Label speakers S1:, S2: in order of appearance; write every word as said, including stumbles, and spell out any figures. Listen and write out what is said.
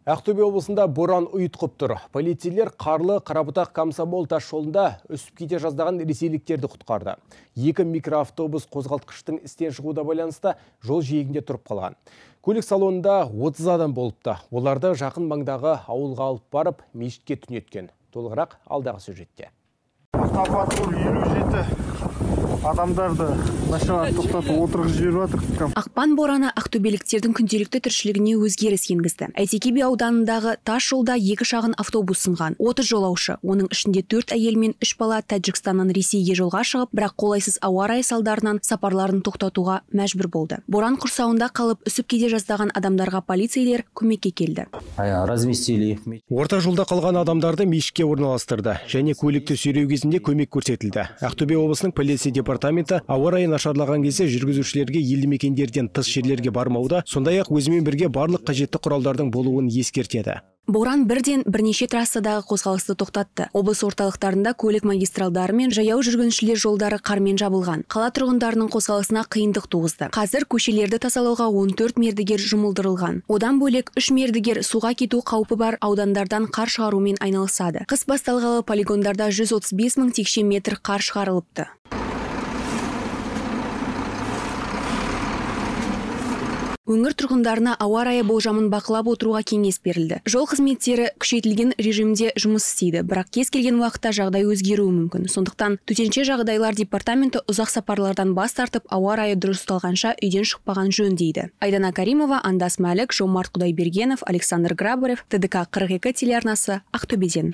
S1: Ақтөбе облысында боран ұйытқып тұр. Полицейлер қарлы Қарабұтақ Комсомол тас жолында үсіп кете жаздаған ресейліктерді құтқарды. Екі микроавтобус қозғалтқыштың істен шығуда байланысты жол жиегінде тұрып қалған. Көлік салонында отыз адам болыпты. Оларды жақын маңдағы ауылға алып барып, мешітке түнеткен. Толығырақ алдағы сюжетте.
S2: Автопатруль елу жеті адамдарды машинаға тоқтатып отырғызып жіберіп жатыр.
S3: Ақпан бораны ақтөбеліктердің күнделікті тіршілігіне өзгеріс енгізді. Әйтеке би ауданындағы тас жолда екі шағын автобус сынған. отыз жолаушы, оның ішінде төрт әйел мен үш бала Тәжікстаннан Ресейге жолға шығып, бірақ қолайсыз ауа райы салдарынан сапарларын тоқтатуға мәжбүр болды. Боран құрсауында қалып үсіп кете жаздаған адамдарға полицейлер көмекке келді.
S1: Орта жолда қалған адамдарды мешітке орналастырды және көлікті сүйреу кезінде көмек көрсетілді. Ақтөбе облысының полиция департаменті ауа райы нашарлаған кезде жүргізушілерге елді мекендерден тыс жерлерге бармауда, сондай-ақ өзімен бірге барлық қажетті құралдардың болуын ескертеді.
S3: Боран бірден бірнеше трассадағы қозғалысты тоқтатты. Облыс орталықтарында көлік магистралдары мен жаяу жүргіншілер жолдары қармен жабылған. Қала тұрғындарының қозғалысына қиындық туғызды. Қазір көшелерді тазалауға он төрт мердігер жұмылдырылған. Одан бөлек үш мердігер суға кету қаупі бар аудандардан қар шығарумен айналысады. Қыс басталғалы полигондарда жүз отыз бес мың текше метр қар шығарылыпты. Өңір тұрғындарына ауа райы болжамын бақылап отыруға кеңес берілді. Жол қызметтері күшейтілген режимде жұмыс істейді, бірақ кез келген уақытта жағдай өзгеруі мүмкін. Сондықтан төтенше жағдайлар департаменті ұзақ сапарлардан бас тартып, ауа райы дұрысталғанша үйден шықпаған жөн дейді. Айдана Каримова, Андас Мәлік, Жомарт Құдайбергенов, Александр Грабарев, Т Д К қырық екі телеарнасы, Ақтөбеден.